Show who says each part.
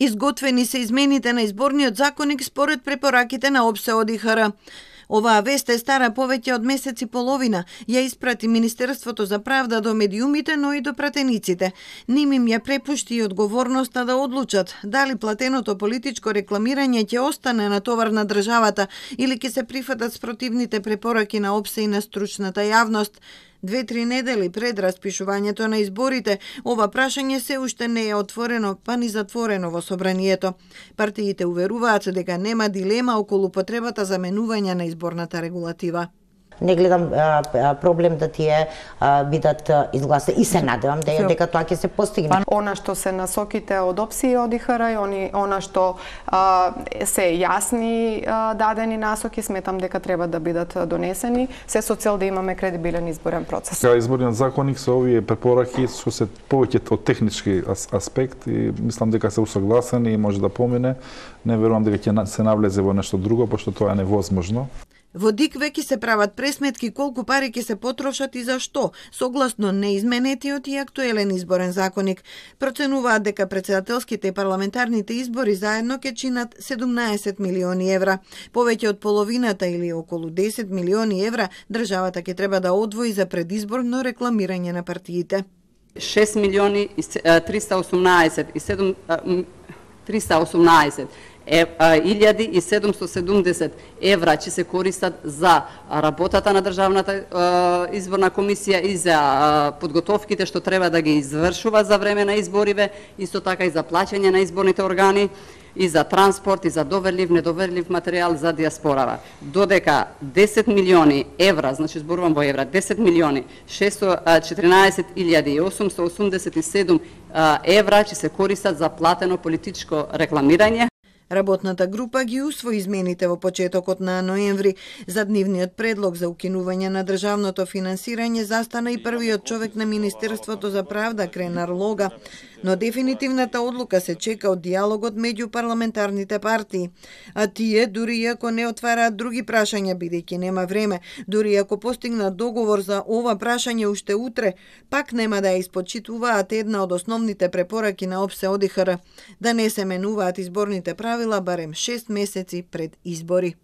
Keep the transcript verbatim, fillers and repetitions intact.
Speaker 1: Изготвени се измените на изборниот законник според препораките на ОПСЕ ОДИХР. Оваа вест е стара повеќе од месец и половина. Ја испрати Министерството за правда до медиумите, но и до пратениците. Ним им ја препушти и одговорноста да одлучат дали платеното политичко рекламирање ќе остане на товар на државата или ќе се прифатат спротивните препораки на ОПСЕ и на стручната јавност. Две-три недели пред распишувањето на изборите, ова прашање се уште не е отворено, па ни затворено во собранието. Партиите уверуваат дека нема дилема околу потребата за менување на изборната регулатива.
Speaker 2: Не гледам а, а, проблем да тие а, бидат изгласени и се надевам дека, дека тоа ќе се постигне.
Speaker 3: Она што се насоките од ОПСЕ и ОДИХР и они, она што а, се јасни а, дадени насоки, сметам дека треба да бидат донесени, се со цел да имаме кредибилен изборен процес.
Speaker 4: Изборниот законник со овие препораки што се повеќе од технички аспект и мислам дека се усогласени и може да помине. Не верувам дека ќе се навлезе во нешто друго, пошто тоа е невозможно.
Speaker 1: Во ДИК веќе се прават пресметки колку пари ќе се потрошат и за што, согласно неизменетиот и актуелен изборен законник. Проценуваат дека претседателските и парламентарните избори заедно ќе чинат седумнаесет милиони евра. Повеќе од половината или околу десет милиони евра државата ќе треба да одвои за предизборно рекламирање на партиите.
Speaker 5: шест милиони триста и осумнаесет илјади и седумстотини и седумдесет евра ќе се користат за работата на Државната изборна комисија и за подготовките што треба да ги извршува за време на избориве, исто така и за плаќање на изборните органи, и за транспорт, и за доверлив, недоверлив материјал за диаспорава. Додека десет милиони евра, значи зборувам во евра, десет милиони шестстотини и четиринаесет илјади и осумстотини и осумдесет и седум евра ќе се користат за платено политичко рекламирање.
Speaker 1: Работната група ги усвои измените во почетокот на ноември. За дневниот предлог за укинување на државното финансирање застана и првиот човек на Министерството за правда, Кренар Лога. Но дефинитивната одлука се чека од диалогот меѓу парламентарните партии. А тие, дури и ако не отвараат други прашања, бидејќи нема време, дури и ако постигнат договор за ова прашање уште утре, пак нема да ја испочитуваат една од основните препораки на ОПСЕ ОДИХР, да не се менуваат изборните правила барем шест месеци пред избори.